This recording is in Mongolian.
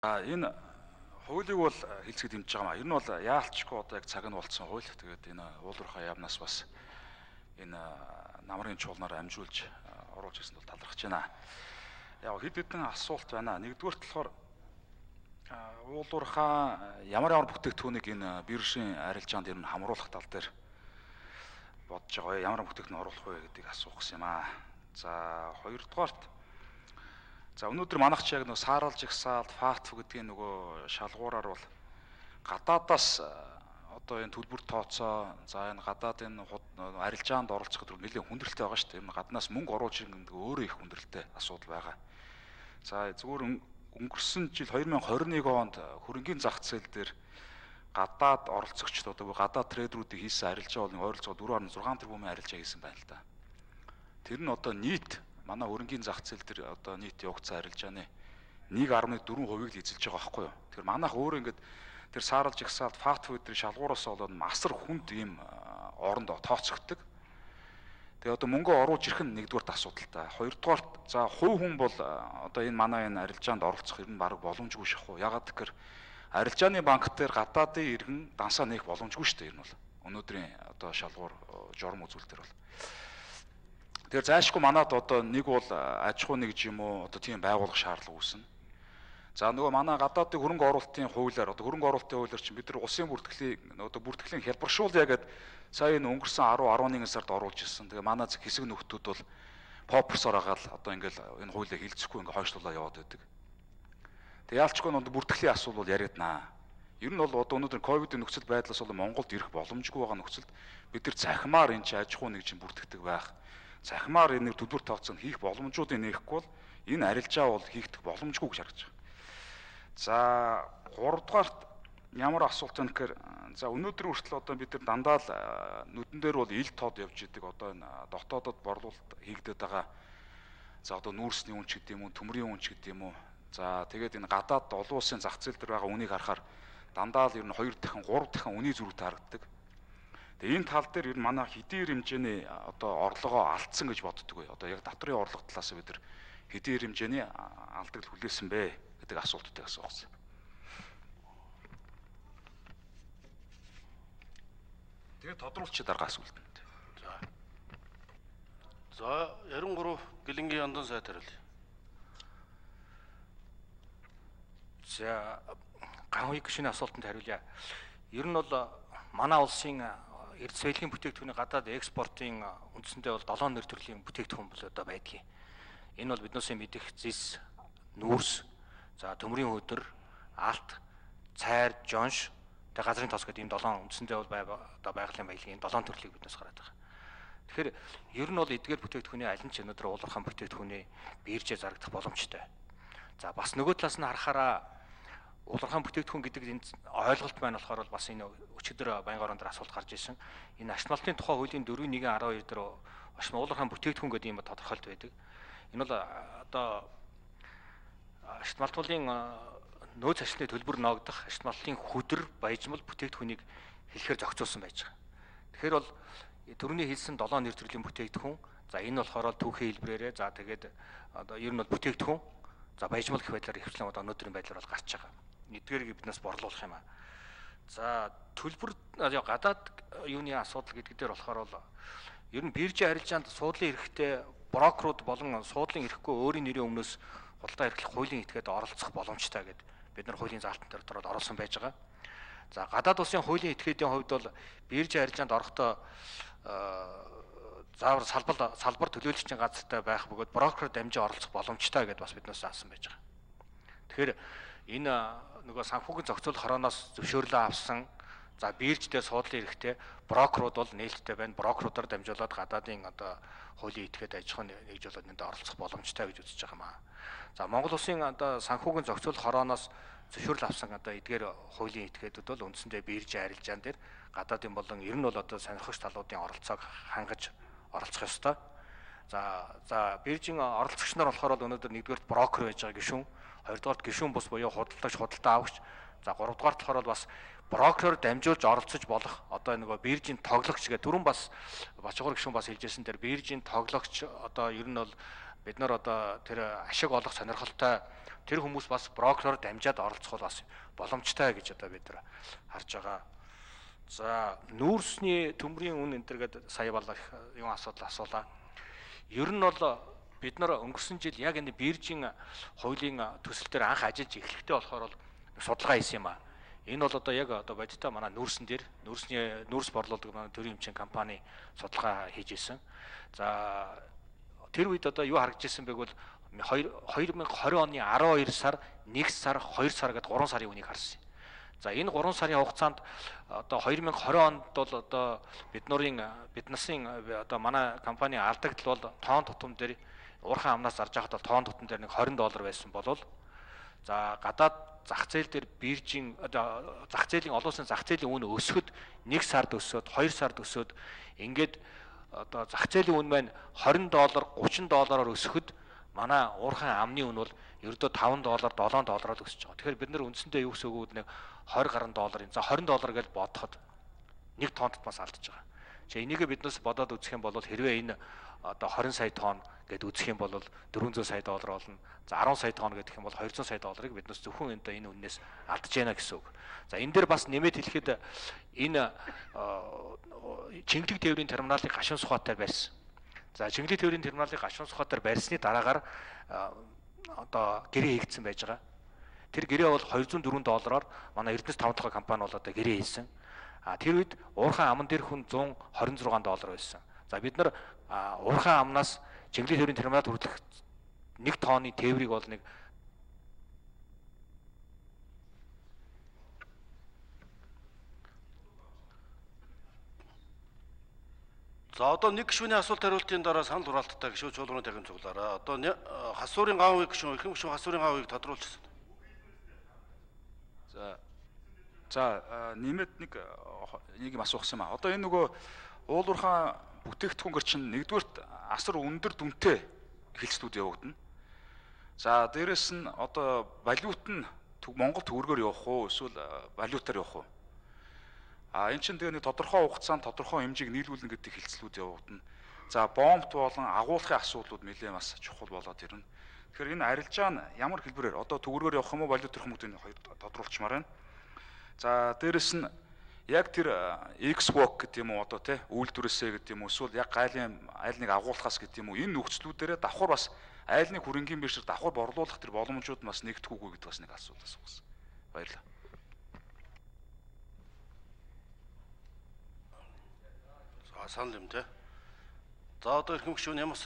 Энэ хуулийг бол хэлцгээд дэмжиж байгаа маа. Ер нь бол яалтчгүй одоо яг цаг нь болцсон хууль. Тэгээд энэ уулуурхай яамнаас бас энэ намрын чуулнаар амжуулж оруулж ирсэнд бол талархаж байна. Яг хэд хэдэн асуулт байна. Нэгдүгээрт болохоор уулуурхай ямар бүтээгдэхүүнийг энэ биржийн арилжаанд ер нь хамруулах тал дээр бодож байгаа. Ямар бүтээгдэхүүн оруулах вэ гэдгийг асуух гэсэн юм аа. За хоёрдугаарт өнөөдөр манайх ч яг нэг сааралж ихсаалт фатф гэдгийн нөгөө шалгуураар бол гадаадаас одоо энэ төлбөр тооцоо за энэ гадаад энэ арилжаанд оролцох гэдэг нэлээд хүндрэлтэй байгаа шүү дээ. Энэ гаднаас мөнгө оруулж ирэх гэдэг өөрөө их хүндрэлтэй асуудал байгаа. За зүгээр өнгөрсөн жил 2021 онд хөрөнгийн зах зээл дээр гадаад оролцогчд одоо гадаад трейдеруудыг хийсэн арилжаа бол ойролцоогоор 4.6 тэрбумын арилжаа хийсэн байна л да. Тэр нь одоо нийт манай хөрөнгийн зах зээл дээр одоо нийт явагдсан арилжааны 1.4%-ийг л эзэлж байгаа байхгүй юу. Тэгэхээр манайх өөрөө ингээд тэр сааралж ихсаалт факт фуд дээр шалгуураас болоод масар хүнд ийм оронд тооцогддог. Тэгээ одоо мөнгө оруулж ирэх нь нэгдүгээр асуудалтай. Хоёрдугаарт за хувь хүн бол одоо энэ манай энэ арилжаанд оролцох ер нь баг боломжгүй шахуу. Ягаад гэхээр арилжааны банк дээр гадаадын иргэн дансаа нээх боломжгүй шүү дээ. Энэ бол өнөөдрийн одоо шалгуур журам үзүүлэлтэр бол. Тэгэхээр заашгүй манад одоо нэг бол аж ахуй нэгж юм уу одоо тийм байгуулах шаардлага үүснэ. За нөгөө манай гадаадын хөрөнгө оруулалтын хуулиар одоо хөрөнгө оруулалтын хуулиар чинь бид нар улсын бүртгэлийн одоо бүртгэлийн хялбаршуулъя гэдэг сая энэ өнгөрсөн 10-11 сард оруулж ирсэн. Тэгээ манай хэсэг нөхдүүд бол попперсоор агаал одоо ингээл энэ хуулийг хилцэхгүй ингээ хойшлуулаад яваад байдаг. Тэгээ яалчгүй нь бүртгэлийн асуудал бол яриаднаа. Ер нь бол одоо өнөөдөр ковидын нөхцөл байдлаас бол Монголд ирэх боломжгүй байгаа нөхцөлд бид нар захимаар энэ чинь аж ахуй нэгжин бүртгэдэг байх. Захимаар энэ төлбөр тооцоог хийх боломжуудыг нээхгүй бол энэ арилжаа бол хийгдэх боломжгүй гэж харагдаж байна. За 3 дугаарт ямар асуулт вэ гэхээр за өнөөдөр хүртэл одоо бид нар дандаа л нүдэн дээр бол ил тод явж идэг одоо энэ дотоодод борлуулалт хийгдэт байгаа. За одоо нүүрсний үнч гэдэг юм уу, төмрийн үнч гэдэг юм уу. За тэгээд энэ гадаад олон улсын зах зээл дээр байгаа үнийг харахаар дандаа л ер нь 2 дахин 3 дахин үний зөрүү таарагддаг. Тэгээ энэ тал дээр ер нь манай хэдийн хэмжээний одоо орлогоо алдсан гэж боддөг бай. Одоо яг татврын орлого талаас бид нар хэдийн хэмжээний алдагд хүлээсэн бэ гэдэг асуултыг асуусан. Тэгээ тодруулчих дарга асуулт. За 93 Гэлэнгийн Яндон сайд хариулъя. За ганхыг гişний асуултанд хариулъя. Ер нь бол манай улсын эрдэс соёлын бүтээгдэхүүний гадаад экспортын үндсэндээ бол 7 нэр төрлийн бүтээгдэхүүн бол одоо байдгийг. Энэ бол биднээс мэдих зис, нүүрс, за төмрийн хөдөр, алт, цайр, жонш, тэгээ газрын тоос гэдэг ийм 7 үндсэндээ бол одоо байгалийн баялагын 7 төрлийг биднээс гараад байгаа. Тэгэхээр ер нь бол эдгээр бүтээгдэхүүний аль нь ч өнөөдөр уулуурхай бүтээгдэхүүний биержээ зарагдах боломжтой. За бас нөгөө талаас нь харахаараа уулуурхай бүтээгдэхүүн гэдэг энэ ойлголт байна болохоор бас энэ өчигдөр баян орон дээр асуулт гарч ирсэн. Энэ ашмалтын тухай хуулийн 4.1.12 дээр уулуурхай бүтээгдэхүүн гэдэг юм тодорхойлт байдаг. Энэ бол одоо ашмалтуулын нөөц ашигны төлбөр ноогдох ашмалтын хөдөр баяжмал бүтээгдэхүүнийг хэлэхээр зохицуулсан байж байгаа. Тэгэхээр бол түрүүний хэлсэн 7 нэр төрлийн бүтээгдэхүүн. За энэ болохоор түүхийн хэлбрээрээ за тэгээд одоо ер нь бол бүтээгдэхүүн за баяжмал гэх байдлаар ихвчлэн одоо өнөөдрийн байдлаар бол гарч байгаа. Эдгээрийг биднээс борлуулах юм аа. За төлбөр гадаад юуны асуудал гэдэг дээр болохоор бол ер нь биржийн арилжаанд суудлын эрхтэй брокерууд болон суудлын эрхгүй өөрийн нэрийн өмнөөс худалдаа эрхлэх хуулийн этгээд оролцох боломжтой гэдэг бид нар хуулийн заалтан дээр дөрөд оруулсан байж байгаа. За гадаад улсын хуулийн этгээдийн хувьд бол биржийн арилжаанд орохдоо заавар салбар төлөөлөгчийн газартай байх бөгөөд брокер дамжин оролцох боломжтой гэдээ бас биднээс заасан байж байгаа. Тэгэхээр энэ нөгөө санхүүгийн зохицуулах хорооноос зөвшөөрлөө авсан за бирж дээр суудлын эрхтэй брокерууд бол нээлттэй байна. Брокеруудаар дамжуулаад гадаадын одоо хуулийн этгээд аж ахуйн нэгжүүлэлт энд оролцох боломжтой гэж үзэж байгаа юм аа. За Монгол улсын одоо санхүүгийн зохицуулах хорооноос зөвшөөрөл авсан одоо эдгээр хуулийн этгээдүүд бол үндсэндээ биржийн арилжаан дээр гадаадын болон ер нь бол одоо сонирхогч талуудын оролцоог хангаж оролцох ёстой. За биржийн оролцогч нар болохоор өнөөдөр нэгдүгээрт брокер байж байгаа гишүүн, хоёрдугаарт гишүүн бус буюу худалдагч, худалдаа авагч, за гуравдугаарт болохоор бас брокероор дамжуулж оролцож болох одоо нөгөө биржийн тоглогч гэдэг түрүүн бас Бачгуур гишүүн бас хэлжсэн дээр биржийн тоглогч одоо ер нь бол бид нар одоо тэр ашиг олох сонирхолтой тэр хүмүүс бас брокероор дамжаад оролцох бас боломжтой гэж одоо бид нар харж байгаа. За нүүрсний төмрийн үн энэ төр гэдэг сая балах юм асуудал асуулаа. Ер нь бол бид нар өнгөрсөн жил яг энэ биржийн хуулийн төсөл дээр анх ажиллаж эхлэхдээ болохоор бол судалгаа хийсэн юм а. Энэ бол одоо яг одоо бодиттой манай нүүрсэн дээр нүүрс борлуулдаг манай төрийн хэмжээний компани судалгаа хийж исэн. За тэр үед одоо юу харагдж ирсэн бэ гэвэл 2020 оны 12 сар, 1 сар, 2 сар гэдэг 3 сарын үнийг харсан. За энэ 3 сарын хугацаанд одоо 2020 онд бол одоо биднээсийн одоо манай компани алдагдал бол тоон тутам дээр уурхайн амнаас зарж байхад бол тоон тутам дээр нэг $20 байсан болол за гадаад зах зээл дээр биржийн зах зээлийн олон улсын зах зээлийн үн өсөхөд 1 сард өсөөд 2 сард өсөөд ингээд одоо зах зээлийн үн маань $20, $30-оор өсөхөд манай уурхайн амны үн бол ердөө $5, $7-оор өсөж байгаа. Тэгэхээр бид нар үндсэндээ юу гэсэн үг вэ? $20 гаруй долларын за $20 гэж бодоход 1 тонн татмаас алдчихж байгаа. За энийг биднээс бодоод үзэх юм бол хэрвээ энэ одоо 20 сая тонн гэд үзэх юм бол $400 сая болно. За 10 сая тонн гэдэг юм бол $200 сая биднээс зөвхөн энэ үннээс алдж яана гэсэн үг. За энэ дээр бас нэмээд хэлэхэд энэ Чингэлэг тээврийн терминалыг гашуун сухатаар барьсан. За Чингэлэг тээврийн терминалыг гашуун сухатаар барьсны дараагаар одоо гэрээ хийгдсэн байж байгаа. Тэр гэрээ бол $204-оор манай Эрдэнэс 5 дахь компани бол одоо гэрээ хийсэн. Тэр үед уурхайн аман дээр хүн $126 байсан. За бид нар уурхайн амнаас Чингэлэг тээврийн терминалд хүрэх 1 тонны тээврийг бол нэг За одоо нэг гишүүний асуулт хариултын дараа санал хураалттай гишүүн чуулганы дахин цуглаараа. Одоо хасуурын гавыг гишүүн эрхэм гишүүн хасуурын гавыг тодруулчихсан. За нэмээд нэг юм асуух юм аа. Одоо энэ нөгөө уулуурхайн бүтээгдэхүүнээр чинь нэгдүгürt асар өндөр дүнтэй эхэлцлүүд явагдана. За дээрэс нь одоо валют нь Монгол төгрөгөөр явах уу эсвэл валютаар явах уу? Энэ чинь тэгээ нэг тодорхой хугацаанд тодорхой хэмжээг нийлүүлнэ гэдэг хэлцлүүд явагдана. За бомбт болон агуулгын асуудлууд нэлээд бас чухал болоод ирнэ. Тэгэхээр энэ арилжаа нь ямар хэлбэрээр одоо төгрөгөөр явах юм уу валют төрөх юм гэдэг нь хоёр тодруулчмаар байна. За дээрэс нь яг тэр X-Walk гэдэг юм уу одоо тий үйлдвэрээсээ гэдэг юм уу эсвэл яг айл нэг агуулгаас гэдэг юм уу энэ нөхцлүүдээрээ давхар бас айл нэг хөрөнгийн бишэр давхар борлуулах тэр боломжууд бас нэгдэхгүйгүй гэдэг бас нэг асуудал асуусан. Баярлалаа. Санал юм те. За одоо эрхэм гишүүн ямар